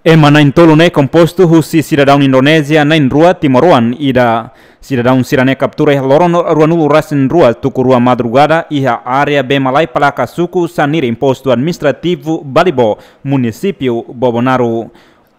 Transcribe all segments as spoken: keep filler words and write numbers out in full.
Ema na'in-tolu ne'e kompostu husi sidadaun Indonézia na'in-rua timoroan ida. Sidadaun sira-ne'e kaptura iha loron ruanulu-resin-rua tuku rua madrugada iha área Bee Malae Palaka, suku Saniri, postu administrativu Balibo, munisípiu Bobonaro.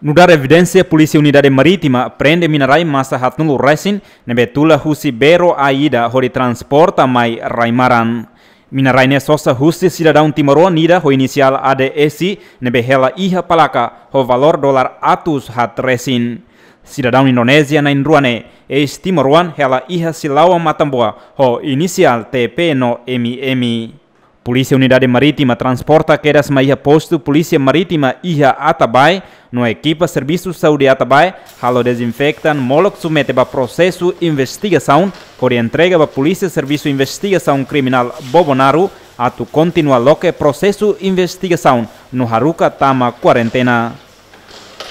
Nu'udar evidénsia, Polísia Unidade Marítima prende mina-rai masa haatnulu-resin ne'ebé tula husi bero ai ida hodi transporta mai rai-maran. Mina-rai ne'e sosa husi sidadaun timoroan ida ho inisiál A D S ne'ebé hela iha palaka ho valór dolar atus haat resin. Sidadaun Indonézia na'in-rua ne'e, eis-timoroan, hela iha Silaoa, Matamboa, ho inisiál T P no M M. Polísia Unidade Marítima transporta kedas mai iha postu Polísia Marítima iha Atabae, no ekipa Servisu Saúde Atabae halo dezinfeta molok submete ba prosesu investigasaun, hodi entrega ba Polísia Servisu Investigasaun Kriminál Bobonaro, atu kontinua loke prosesu investigasaun no haruka tama kuarentena.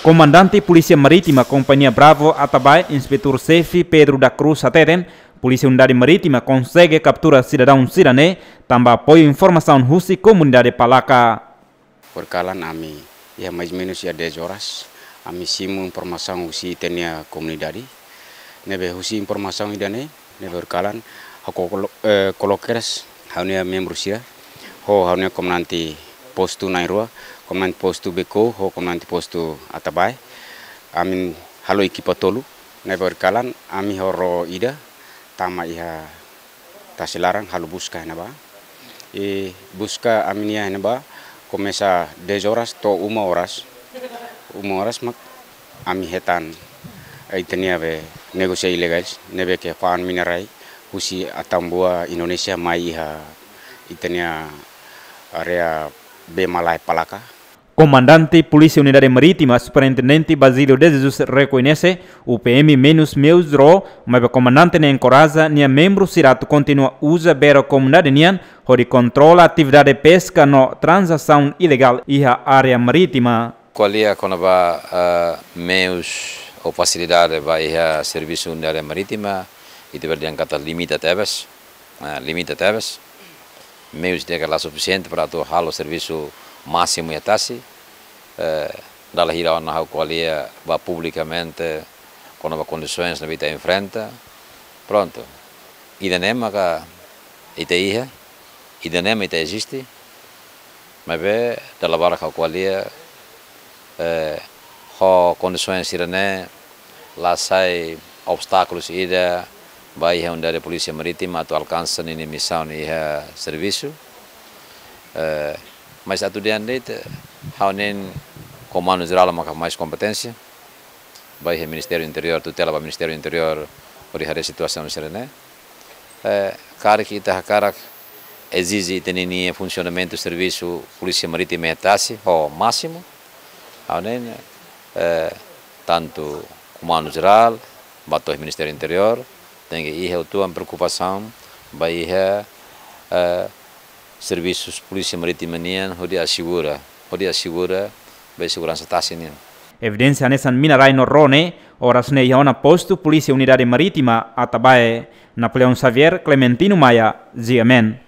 Komandante Polísia Marítima Kompañia Bravo Atabae, Inspetór Xefe Pedro da Cruz, hateten, Polísia Unidade Marítima konsege kaptura sidadaun sira-ne'e tanba apoiu informasaun husi komunidade palaka. Horikalan ami, iha mais menus iha dez horas, ami simu informasaun husi ita-nia komunidade. Ne'ebé husi informasaun ida-ne'e, ne'ebé horikalan, ha'u kolo-, eh, koloke kedas ha'u-nia membru sira, ho ha'u-nia komandante postu na'in-rua, komandante postu Beko, ho komandante postu Atabae. Ami halo ekipa tolu, ne'ebé horikalan, ami ho ró ida, tama iha tasi laran halo buska iha ne'ebá. I buska ami-nia iha ne'ebá komesa dez horas to'o uma horas. Uma horas mak ami hetan, eh, ita-nia be negósiu ilegál ne'ebé ke fa'an mina-rai husi Atambua, Indonézia, mai iha ita-nia área Bee Malae Palaka. Komandante Polísia Unidade Marítima, Superintendente Basílio de Jesus, rekoñese, U P M menus meus ró, maibé komandante ne'e enkoraja nia membru sira atu kontinua uza bero komunidade nian, hodi kontrola atividade peska no tranzasaun ilegál iha área marítima. Ko'alia kona-ba, eh, meius ou fasilidade ba iha Servisu Unidade Marítima, ita bele dehan katak limita tebes, eh, limita tebes. Meius ida-ne'e la sufisiente para atu halo servisu másimu iha tasi. Eh, dala hira ona ha'u ko'alia ba publikamente kona-ba kondisoens ne'ebé ita enfrenta. Prontu. Ida-ne'e maka ita iha, ida-ne'e mak ita eziste. Maibé dala barak ha'u ko'alia, eh, ho kondisoens sira-ne'e la sai obstákulus ida ba iha Unidade Polísia Marítima atu alkansa ninia misaun iha servisu. Eh, mas atu dehan de'it, ha'u hanoin Komandu Jerál maka mais kompeténsia. Ba iha Ministériu Interiór, tutela ba Ministériu Interiór, hodi haree situasaun sira-ne'e. Eh, karik ita hakarak ezije ita ninia funsionamentu servisu Polísia Marítima iha tasi ho másimu, ha'u hanoin, eh, tantu Komandu Jerál, ba to'o Ministériu Interiór, tenke iha uitoan preokupasaun ba iha, eh, servisu Polísia Marítima nian hodi asegura, hodi asegura ba seguransa tasi nian. Evidénsia hanesan mina-rai no ró ne'e, oras ne'e iha ona postu Polísia Unidade Marítima Atabae. Napoleão Xavier, Clementino Maia, G M N.